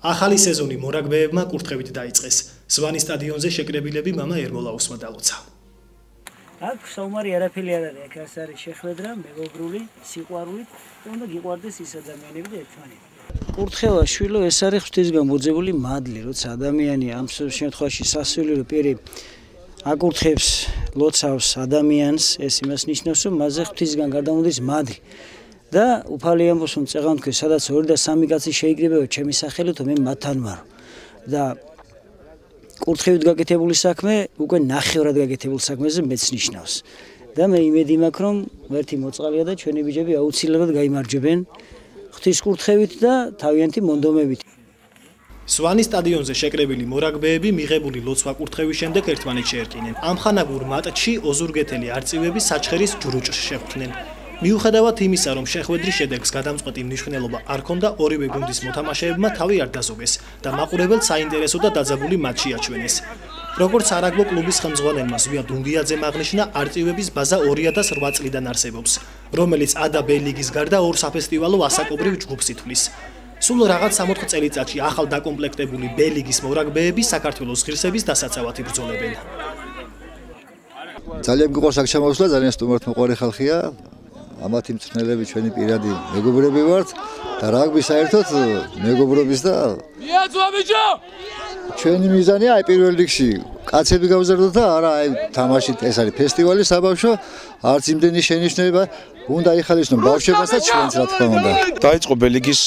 ახალი სეზონი მორაგბეებმა კურთხევით დაიწყეს. სვანის სტადიონზე შეკრებილები მამა ერმოლაუსმა დალოცა. აქ საომარი არაფერი არ არის, აქ არის შეხვედრა, მეგობრული, სიყვარულით, უნდა გიყვარდეს ის ადამიანები და ერთმანეთი. კურთხევა შვილო ეს არის ღვთისგან მოძებული მადლი, როცა ადამიანი ამ შემთხვევაში სასულიერო პირი აკურთხებს, ლოცავს ადამიანს, ეს იმას ნიშნავს, რომ მასზე ღვთისგან გადამოდის მადლი. და უფალი ამბობს, რომ წეღან თქვენ, სადაც 2 და 3 კაცი შეიკრიბება ჩემი სახელით, მე მათთან ვარ. და კურთხევით გაკეთებული საქმე უკვე ნახევრად გაკეთებულ საქმეზე მეც ნიშნავს. და მე იმედი მაქვს, რომ ერთი მოწყალია და ჩვენი ბიჭები აუცილებლად გაიმარჯვებენ ღვთის კურთხევით და თავიანთი მონდომებით. სვანის სტადიონზე შეკრებილი მორაგბეები მიღებული ლოცვა კურთხევის შემდეგ ერთმანეთს შეერკინენ. ამხანაგურ მატჩში ოზურგეთელი არწივები საჩხერის ჯრუჭს შეხვდნენ. მიუხედავად იმისა, რომ შეხვედრის შედეგს გადამწყვეტი მნიშვნელობა არ ჰქონდა, ორივე გუნდის მოთამაშეებმა თავი არ დაზოგეს და მაყურებელს საინტერესო და დაძაბული მატჩი აჩვენეს. როგორც არაგბო კლუბის ხელმძღვანელმა ზვია დუნგიაძემ აღნიშნა, არწივების ბაზა 2008 წლიდან არსებობს, რომელიც A და B ლიგის გარდა 2 საფესტივალო ასაკობრივ ჯგუფს ითვლის. სულ რაღაც 60 წელიწადში ახალ დაკომპლექტებული B ლიგის მორაგბეები საქართველოს ღირსების დასაცავად იბრძოლებენ. ძალიან გიყვარს აქ შემოსვლა, ძალიან სტუმართმოყვარე ხალხია. ამათი მწვრთნელები ჩვენი პირადი მეგობრები ვართ და რაგბი საერთოდ მეგობრობის და ჩვენი მიზანია აი პირველ რიგში კაცები გავზარდოთ და არა აი თამაშით ეს არის ფესტივალი საბავშვო არც იმდენი შენიშვნება უნდა იხალისონ ბავშვებას და ჩვენც რა თქმა უნდა. დაიწყო ბელიგის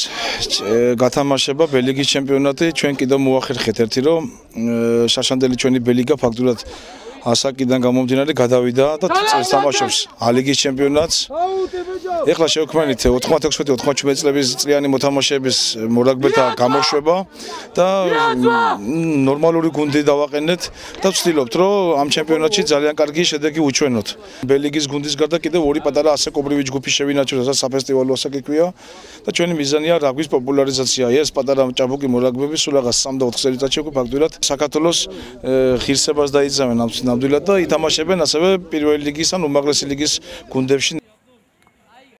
გათამაშება, ბელიგის ჩემპიონატი, ჩვენ კიდევ მოახერხეთ ერთი რომ შაშანდელი ჩვენი ბელიგა ფაქტურად ასაკიდან გამომდინარე გადავიდა და თამაშობს ალიგის ჩემპიონატს. ეხლა შევქმნით 96-97 წლების წლიანი მოთამაშეების მორაგბეთა გამოშვება და ნორმალური გუნდი დავაყენეთ და ვცდილობთ რომ ამ ჩემპიონატში ძალიან კარგი შედეგი უჩვენოთ. ბელიგის გუნდის გარდა კიდევ 2 პატარა ასაკობრივი ჯგუფი შევინაჩვენოთ, რასაც საფესტივალო ასაკი ქვია და ჩვენი მიზანია რაგბის პოპულარიზაცია. ეს პატარა ჭაბუკი მორაგბები სულ რაღაც 3 და 4 წელიწადში უკვე ფაქტურად საქართველოს ღირსებას დაიძავენ ნამდვილად და ითამაშებენ ასევე პირველი ლიგის ან უმაღლესი ლიგის გუნდებში.